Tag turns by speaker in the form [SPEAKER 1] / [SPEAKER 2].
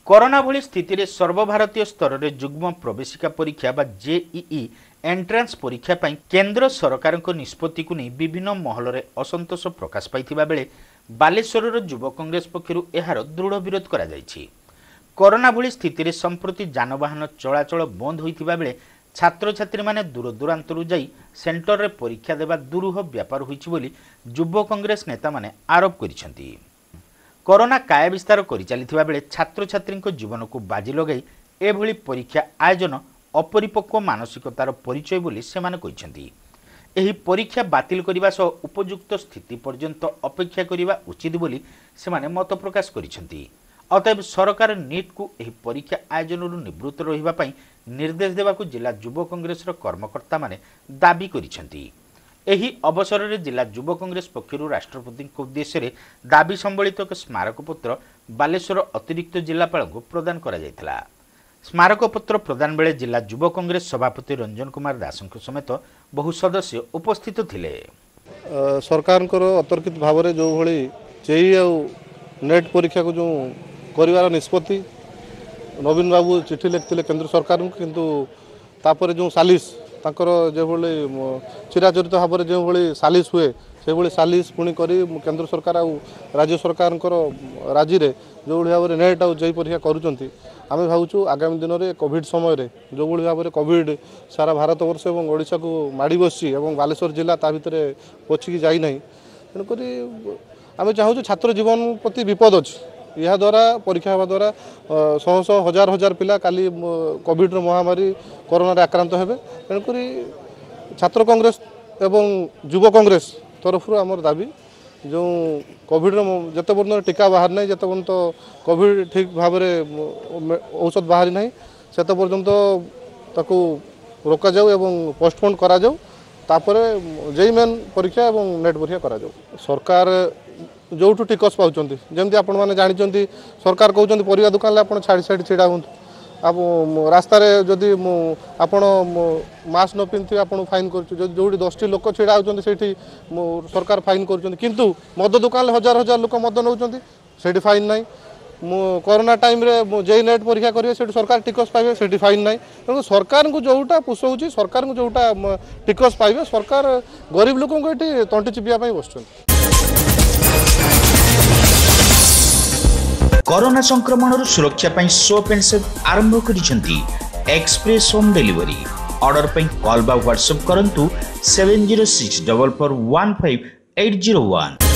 [SPEAKER 1] Corona ଭଳି ସ୍ଥିତିରେ ସର୍ବଭାରତୀୟ ସ୍ତରରେ ଯୁଗ୍ମ ପ୍ରବେଶିକା ପରୀକ୍ଷା ବା ଜେଇଇ ଏଣ୍ଟ୍ରାନ୍ସ ପରୀକ୍ଷା ପାଇଁ କେନ୍ଦ୍ର ସରକାରଙ୍କ ନିଷ୍ପତ୍ତିକୁ ନେଇ ବିଭିନ୍ନ ମହଲରେ ଅସନ୍ତୋଷ ପ୍ରକାଶ ପାଇଥିବା ବେଳେ ବାଲେଶ୍ୱରର ଯୁବ କଂଗ୍ରେସ ପକ୍ଷରୁ ଏହାର ଦୃଢ଼ ବିରୋଧ କରାଯାଇଛି। କରୋନା ଭଳି ସ୍ଥିତିରେ ସମ୍ପ୍ରତି ଯାନବାହନ ଚଳାଚଳ ବନ୍ଦ ହୋଇଥିବା ବେଳେ ଛାତ୍ରଛାତ୍ରୀମାନେ ଦୂରଦୂରାନ୍ତରୁ ଯାଇ ସେଣ୍ଟରରେ ପରୀକ୍ଷା ଦେବା ଦୁରୂହ ବ୍ୟାପାର ହୋଇଛି ବୋଲି ଯୁବ କଂଗ୍ରେସ ନେତାମାନେ ଆରୋପ କରିଛନ୍ତି। କରୋନା କାୟା ବିସ୍ତାର କରିଚାଲିଥିବା ବେଳେ ଛାତ୍ରଛାତ୍ରୀଙ୍କ ଜୀବନକୁ ବାଜି ଲଗାଇ ଏଭଳି ପରୀକ୍ଷା ଆୟୋଜନ ଅପରିପକ୍ୱ ମାନସିକତାର ପରିଚୟ ବୋଲି ସେମାନେ କହିଛନ୍ତି। ଏହି ପରୀକ୍ଷା ବାତିଲ କରିବା ସହ ଉପଯୁକ୍ତ ସ୍ଥିତି ପର୍ଯ୍ୟନ୍ତ ଅପେକ୍ଷା କରିବା ଉଚିତ ବୋଲି ସେମାନେ ମତ ପ୍ରକାଶ କରିଛନ୍ତି। ଅତଏବ ସରକାର ନିଟ୍କୁ ଏହି ପରୀକ୍ଷା ଆୟୋଜନରୁ ନିବୃତ୍ତ ରହିବା ପାଇଁ ନିର୍ଦ୍ଦେଶ ଦେବାକୁ ଜିଲ୍ଲା ଯୁବ କଂଗ୍ରେସର କର୍ମକର୍ତ୍ତାମାନେ ଦାବି କରିଛନ୍ତି। ଏହି ଅବସରରେ ଜିଲ୍ଲା ଯୁବ କଂଗ୍ରେସ ପକ୍ଷରୁ ରାଷ୍ଟ୍ରପତିଙ୍କ ଉଦ୍ଦେଶ୍ୟରେ ଦାବି ସମ୍ବଳିତ ଏକ ସ୍ମାରକପତ୍ର ବାଲେଶ୍ୱର ଅତିରିକ୍ତ ଜିଲ୍ଲାପାଳଙ୍କୁ ପ୍ରଦାନ କରାଯାଇଥିଲା। ସ୍ମାରକପତ୍ର ପ୍ରଦାନ ବେଳେ ଜିଲ୍ଲା ଯୁବ କଂଗ୍ରେସ ସଭାପତି ରଞ୍ଜନ କୁମାର ଦାସଙ୍କ ସମେତ ବହୁ ସଦସ୍ୟ ଉପସ୍ଥିତ ଥିଲେ।
[SPEAKER 2] ସରକାରଙ୍କର ଅତର୍କିତ ଭାବରେ ଯେଉଁଭଳି ଜେଇ ଆଉ ନେଟ୍ ପରୀକ୍ଷାକୁ ଯେଉଁ କରିବାର ନିଷ୍ପତ୍ତି, ନବୀନ ବାବୁ ଚିଠି ଲେଖିଥିଲେ କେନ୍ଦ୍ର ସରକାରଙ୍କୁ, କିନ୍ତୁ ତାପରେ ଯେଉଁ ସାଲିସ ତାଙ୍କର ଯେଭଳି ଚିରାଚରିତ ଭାବରେ ଯେଉଁଭଳି ସାଲିସ ହୁଏ ସେଭଳି ସାଲିସ ପୁଣି କରି କେନ୍ଦ୍ର ସରକାର ଆଉ ରାଜ୍ୟ ସରକାରଙ୍କର ରାଜିରେ ଯେଉଁଭଳି ଭାବରେ ନେଟ୍ ଆଉ ଜେଇ ପରୀକ୍ଷା କରୁଛନ୍ତି, ଆମେ ଭାବୁଛୁ ଆଗାମୀ ଦିନରେ କୋଭିଡ଼ ସମୟରେ ଯେଉଁଭଳି ଭାବରେ କୋଭିଡ଼ ସାରା ଭାରତବର୍ଷ ଏବଂ ଓଡ଼ିଶାକୁ ମାଡ଼ି ବସିଛି ଏବଂ ବାଲେଶ୍ୱର ଜିଲ୍ଲା ତା ଭିତରେ ପଛିକି ଯାଇନାହିଁ, ତେଣୁକରି ଆମେ ଚାହୁଁଛୁ ଛାତ୍ର ଜୀବନ ପ୍ରତି ବିପଦ ଅଛି। ଏହାଦ୍ୱାରା ପରୀକ୍ଷା ହେବା ଦ୍ୱାରା ଶହ ଶହ ହଜାର ହଜାର ପିଲା କାଲି କୋଭିଡ଼ର ମହାମାରୀ କରୋନାରେ ଆକ୍ରାନ୍ତ ହେବେ। ତେଣୁକରି ଛାତ୍ର କଂଗ୍ରେସ ଏବଂ ଯୁବ କଂଗ୍ରେସ ତରଫରୁ ଆମର ଦାବି, ଯେଉଁ କୋଭିଡ଼ର ଯେତେ ପର୍ଯ୍ୟନ୍ତ ଟୀକା ବାହାରି ନାହିଁ, ଯେତେ ପର୍ଯ୍ୟନ୍ତ କୋଭିଡ଼ ଠିକ୍ ଭାବରେ ଔଷଧ ବାହାରି ନାହିଁ, ସେତେ ପର୍ଯ୍ୟନ୍ତ ତାକୁ ରୋକାଯାଉ ଏବଂ ପୋଷ୍ଟପୋନ୍ କରାଯାଉ। ତାପରେ ଜେଇ ମେନ୍ ପରୀକ୍ଷା ଏବଂ ନେଟ୍ ପରୀକ୍ଷା କରାଯାଉ। ସରକାର ଯେଉଁଠୁ ଟିକସ ପାଉଛନ୍ତି, ଯେମିତି ଆପଣମାନେ ଜାଣିଛନ୍ତି, ସରକାର କହୁଛନ୍ତି ପରିବା ଦୋକାନରେ ଆପଣ ଛାଡ଼ି ଛାଡ଼ି ଛିଡ଼ା ହୁଅନ୍ତୁ, ଆଉ ରାସ୍ତାରେ ଯଦି ମୁଁ ଆପଣ ମାସ୍କ ନ ପିନ୍ଧିଥିବେ ଆପଣଙ୍କୁ ଫାଇନ୍ କରୁଛୁ, ଯଦି ଯେଉଁଠି 10ଟି ଲୋକ ଛିଡ଼ା ହେଉଛନ୍ତି ସେଇଠି ମୁଁ ସରକାର ଫାଇନ୍ କରୁଛନ୍ତି, କିନ୍ତୁ ମଦ ଦୋକାନରେ ହଜାର ହଜାର ଲୋକ ମଦ ନେଉଛନ୍ତି, ସେଇଠି ଫାଇନ୍ ନାହିଁ। ମୁଁ କରୋନା ଟାଇମ୍ରେ ମୁଁ ଜେଇ ନେଟ୍ ପରୀକ୍ଷା କରିବେ ସେଇଠି ସରକାର ଟିକସ ପାଇବେ, ସେଇଠି ଫାଇନ୍ ନାହିଁ। ତେଣୁ ସରକାରଙ୍କୁ ଯେଉଁଟା ପୋଷଉଛି, ସରକାରଙ୍କୁ ଯେଉଁଟା ଟିକସ ପାଇବେ, ସରକାର ଗରିବ ଲୋକଙ୍କୁ ଏଠି ତଣ୍ଟି ଚିପିବା ପାଇଁ ବସୁଛନ୍ତି।
[SPEAKER 1] କରୋନା ସଂକ୍ରମଣରୁ ସୁରକ୍ଷା ପାଇଁ ସୋପ୍ ଆଣ୍ଡ ସେଫ୍ ଆରମ୍ଭ କରିଛନ୍ତି ଏକ୍ସପ୍ରେସ୍ ହୋମ୍ ଡେଲିଭରି। ଅର୍ଡର ପାଇଁ କଲ୍ ବା ହ୍ୱାଟ୍ସଆପ୍ କରନ୍ତୁ 7064415801।